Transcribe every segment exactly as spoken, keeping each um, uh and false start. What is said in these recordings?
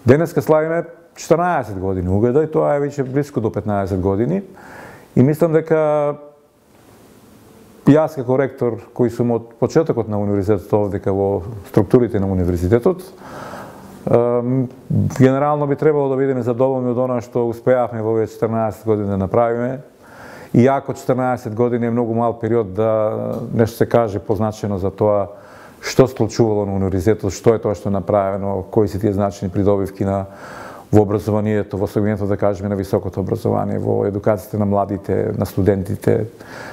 Денеска славиме четрнаесет години угледа и тоа е веќе близко до петнаесет години. И мислам дека јас како ректор, кој сум од почетокот на универзитетот овде во структурите на универзитетот, генерално би требало да бидеме задоволни од она што успеавме во овие четрнаесет години да направиме. Иако четрнаесет години е многу мал период да нешто се каже позначено за тоа што се случувало на универзитетот, што е тоа што е направено, кои се тие значени придобивки на во образованието, во сегментот да кажеме на високото образование, во едукацијата на младите, на студентите.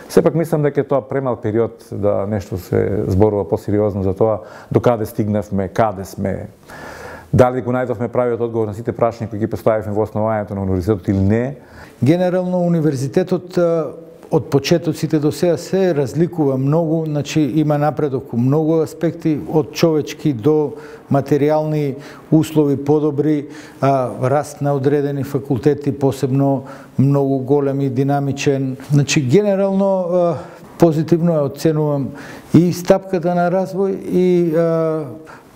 Сепак мислам дека е тоа премал период да нешто се зборува посериозно за тоа до каде стигнавме, каде сме. Дали го најдовме правиот одговор на сите прашања кои ги поставивме во основањето на универзитетот или не? Генерално универзитетот од почетоците до сега се разликува многу, значи има напредок у многу аспекти, од човечки до материјални услови подобри, а, раст на одредени факултети, посебно многу голем и динамичен. Значи генерално а, позитивно ја оценувам и стапката на развој и а,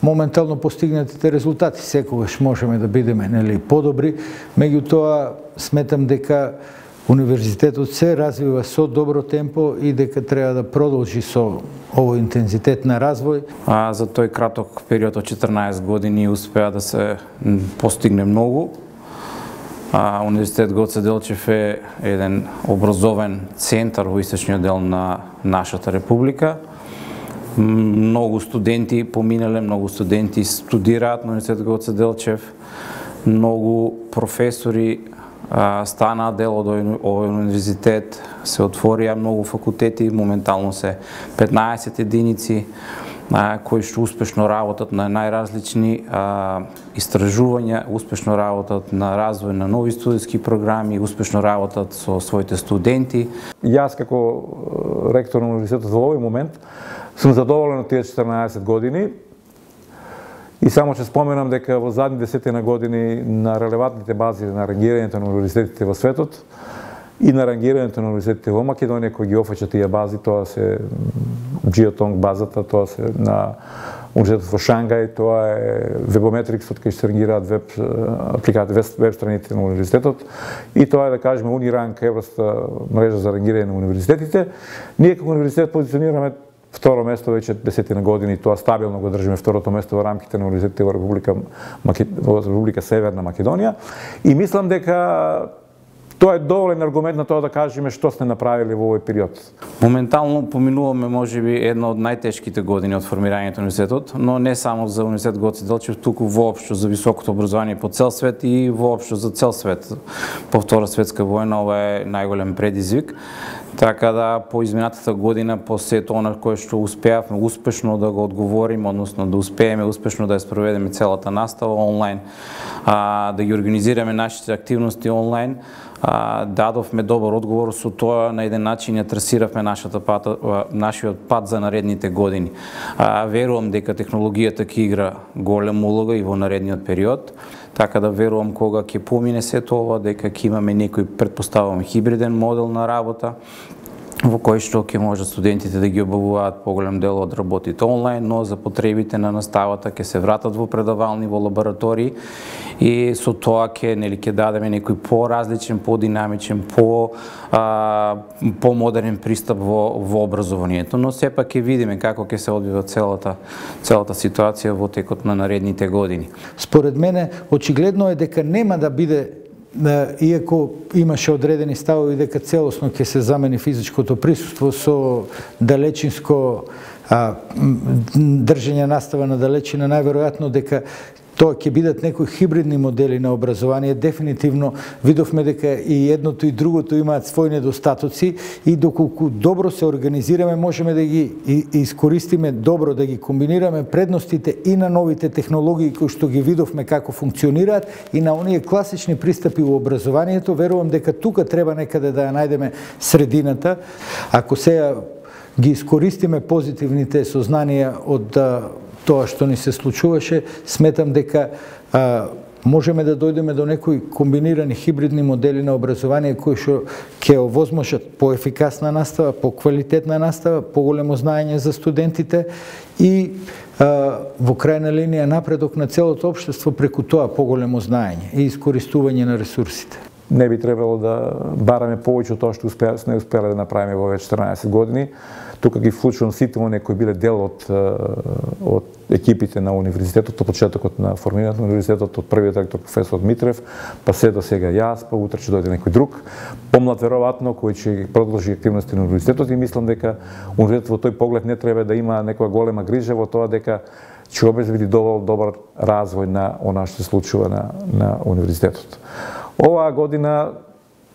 моментално постигнатите резултати. Секогаш можеме да бидеме нели подобри, меѓутоа сметам дека универзитетот се развива со добро темпо и дека треба да продолжи со овој интензитет на развој. А, за тој краток период од четрнаесет години успеа да се постигне многу. А, Универзитет Гоце Делчев е еден образовен центар во источниот дел на нашата република. Многу студенти поминале, многу студенти студираат на Универзитет Гоце Делчев, многу професори станаа дел од овој универзитет, се отворија многу факултети, моментално се петнаесет единици кои што успешно работат на најразлични истражувања, успешно работат на развој на нови студентски програми, успешно работат со своите студенти. Јас како ректор на универзитетот во овој момент сум задоволен од тие четрнаесет години. И само ќе споменам дека во задни десетина години на релевантните бази на рангирањето на универзитетите во светот и на рангирањето на универзитетите во Македонија, кои ги офаќа тие бази, тоа се Geotong базата, тоа се на универзитетот во Шангај, тоа е Webometrics, од кај се рангираат веб апликации, веб страниците на универзитетот, и тоа е да кажеме Unirank, европска мрежа за рангирање на универзитетите. Ние како универзитет позиционираме второ место веќе десетина години, тоа стабилно го држиме второто место во рамките на универзитетите во Република, во Република Северна Македонија, и мислам дека тоа е доволен аргумент на тоа да кажеме што сме направиле во овој период. Моментално поминуваме можеби една од најтешките години од формирањето на универзитетот, но не само за Универзитет Гоце Делчев, туку воопшто за високото образование по цел свет и воопшто за цел свет. По Втора светска војна ова е најголем предизвик. Така да по изминатата година, по сето она кое што успеавме успешно да го одговориме, односно да успееме успешно да ја спроведеме целата настава онлайн, а, да ги организираме нашите активности онлайн, а, дадовме добар одговор, со тоа на еден начин ја трасиравме нашата пат, нашиот пат за наредните години. А, верувам дека технологијата ќе игра голема улога и во наредниот период. Така да верувам кога ќе помине сето ова, дека ќе имаме некој, предпоставувам, хибриден модел на работа, во кој што ќе можат студентите да ги обавуваат поголем дел од работите онлайн, но за потребите на наставата ќе се вратат во предавални, во лаборатории, и со тоа ќе нели ќе дадеме некој поразличен, подинамичен, по а, помодерен пристап во во образованието, но сепак ќе видиме како ќе се одвива целата целата ситуација во текот на наредните години. Според мене очигледно е дека нема да биде, иако имаше одредени ставови дека целосно ќе се замени физичкото присуство со далечинско а, држење настава на далечина, најверојатно дека тоа ќе бидат некои хибридни модели на образование. Дефинитивно видовме дека и едното и другото имаат своји недостатоци, и доколку добро се организираме, можеме да ги искористиме добро, да ги комбинираме предностите и на новите технологии кои што ги видовме како функционираат, и на оние класични пристапи во образованието. Верувам дека тука треба некаде да ја најдеме средината. Ако сега ги искористиме позитивните сознанија од тоа што ни се случуваше, сметам дека а, можеме да дојдеме до некои комбинирани хибридни модели на образование кои што ќе овозможат поефикасна настава, поквалитетна настава, поголемо знаење за студентите и а, во крајна линија напредок на целото општество преку тоа поголемо знаење и искористување на ресурсите. Не би требало да бараме повеќе од тоа што не успеале да направиме во овие четрнаесет години. Тука ги вклучувам сите оние кои биле дел од, од екипите на универзитетот, од почетокот на формирањето на универзитетот, од првиот ректор професор Митрев, па се до сега јас, па утре ќе дојде некој друг, помлад веројатно, кој ќе продолжи активности на универзитетот и мислам дека универзитетот во тој поглед не треба да има некоја голема грижа во тоа дека ќе обезбеди доволно добар развој на она што се случува на, на универзитетот. Оваа година,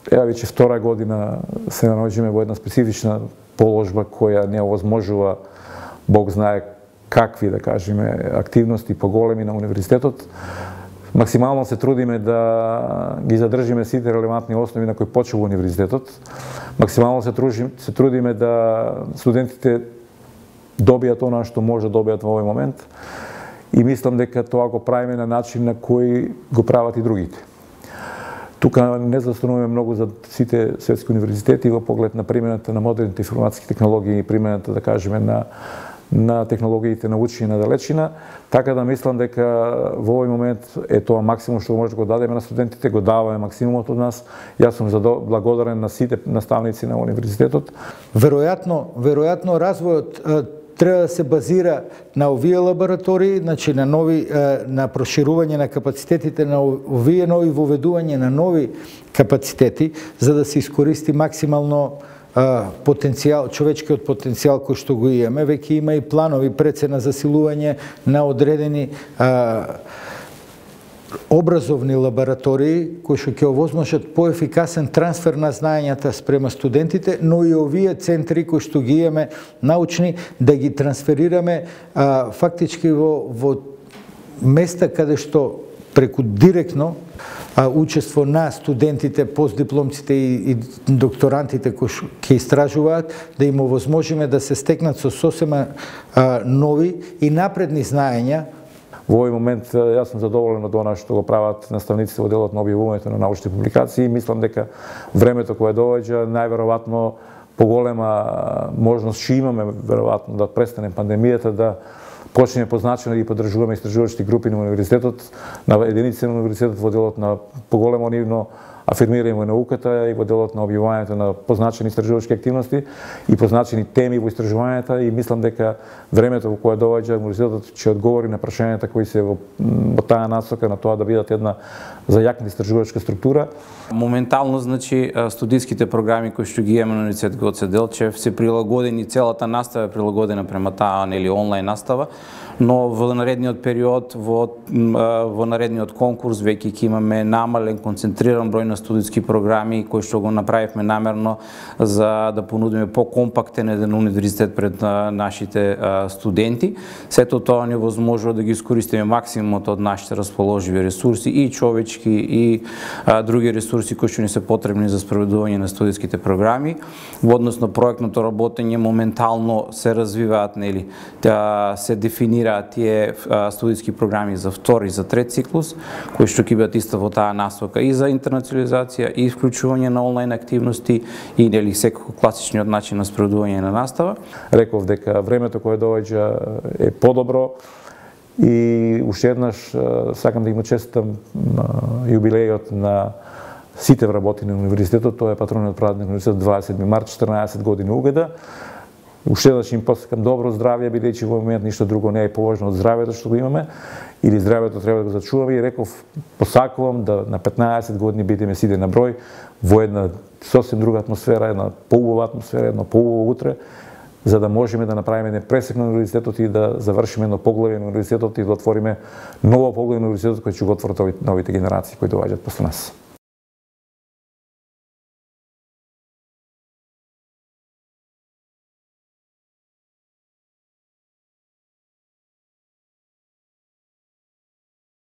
ева веќе втора година, се наоѓаме во една специфична положба која не овозможува, Бог знае какви, да кажеме, активности поголеми на универзитетот. Максимално се трудиме да ги задржиме сите релевантни основи на кои почува универзитетот. Максимално се, тружим, се трудиме да студентите добијат она што може да добијат во овој момент и мислам дека тоа го правиме на начин на кој го прават и другите. Тука не застануваме многу за сите светски универзитети во поглед на примената на модерните информатски технологии и примената, да кажеме, на на технологиите на учење на далечина, така да мислам дека во овој момент е тоа максимум што може да го дадеме на студентите, го даваме максимумот од нас. Јас сум благодарен на сите наставници на универзитетот. Веројатно, веројатно развојот треба да се базира на овие лаборатории, значи на нови на проширување на капацитетите на овие нови воведување на нови капацитети за да се искористи максимално потенцијал, човечкиот потенцијал кој што го имаме. Веќе има и планови пред се на засилување на одредени а, образовни лаборатории кои што ќе овозможат поефикасен трансфер на знаењата спрема студентите, но и овие центри кои што ги имаме научни да ги трансферираме а, фактички во, во места каде што преку директно а, учество на студентите, постдипломците и, и докторантите кои ќе истражуваат, да им овозможиме да се стекнат со сосема а, нови и напредни знаења. Во овој момент јас сум задоволен од она што го прават наставниците во делот на објавувањето на научни публикации. Мислам дека времето кое доаѓа најверојатно поголема можност ќе имаме веројатно да престане пандемијата, да почнеме позначено да ги поддржуваме истражувачки групи на универзитетот, на единици на универзитетот во делот на поголемо нивно афирмирање во науката и во делот на објавувањето на позначени истражувачки активности и позначени теми во истражувањата и мислам дека времето во кое доаѓа универзитетот ќе одговори на прашањата кои се во, во таа насока на тоа да бидат една зајакна истражувачка структура. Моментално, значи, студиските програми кои што ги имаме на Универзитет Гоце Делчев се прилагодени, целата настава е прилагодена према таа нели онлайн настава, но во наредниот период, во, во наредниот конкурс веќе ќе имаме намален, концентриран број на студиски програми кои што го направивме намерно за да понудиме по-компактен еден универзитет пред нашите студенти. Сето тоа ни возможува да ги искористиме максимумот од нашите расположиви ресурси и човечки и а, други ресурси кои што ни се потребни за спроведување на студиските програми. Во однос на проектното работење моментално се развиваат, нели, да се дефинираат тие а, студиски програми за втори и за трет циклус, кои што ќе бидат исто во таа насока и за интернационализација и вклучување на онлайн активности и нели секако класичниот начин на спроведување на настава. Реков дека времето кое доаѓа е подобро и уште еднаш сакам да им честитам јубилејот на сите вработени на универзитетот. Тоа е патрониот празник на универзитетот дваесет март, четрнаесет години угода. Уште еднаш им посакам добро здравје, бидејќи во момент ништо друго не е поважно од здравјето што го имаме, или здравјето треба да го зачуваме и реков, посакувам да на петнаесет години бидеме сите на број во една сосем друга атмосфера, една поубава атмосфера, едно поубаво утре, за да можеме да направиме еден пресек на универзитетот и да завршиме едно поглавје на универзитетот и да отвориме ново поглавје на универзитетот кој ќе го отворат новите генерации кои доаѓаат после нас.